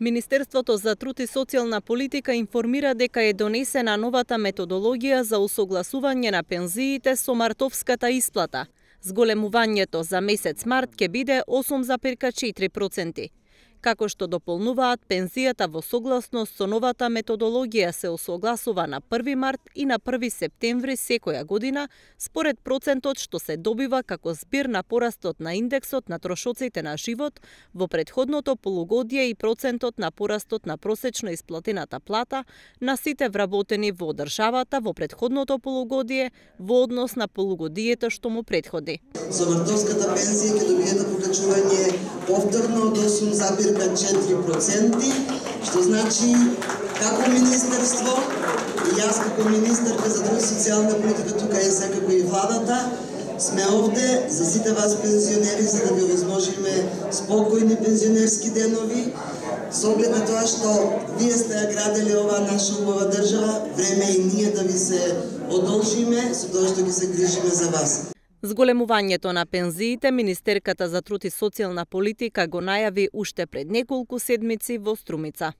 Министерството за труд и социјална политика информира дека е донесена новата методологија за усогласување на пензиите со мартовската исплата. Зголемувањето за месец март ќе биде 8,4%. Како што дополнуваат, пензијата во согласност со новата методологија се усогласува на 1 март и на 1 септември секоја година, според процентот што се добива како збир на порастот на индексот на трошоците на живот во претходното полугодие и процентот на порастот на просечно исплатената плата на сите вработени во државата во претходното полугодие во однос на полугодието што му претходи. За мартовската пензија ќе добиете покачување повторно од 8,4%, што значи како министерство и јас како министерка за труд и социјална политика, тука е секако и владата, сме овде за сите вас пензионери за да ви овозможиме спокојни пензионерски денови, со оглед на тоа што вие сте ја градели оваа наша убава држава, време и ние да ви се одолжиме со тоа што ги се грижиме за вас. Зголемувањето на пензиите Министерката за труд и социјална политика го најави уште пред неколку седмици во Струмица.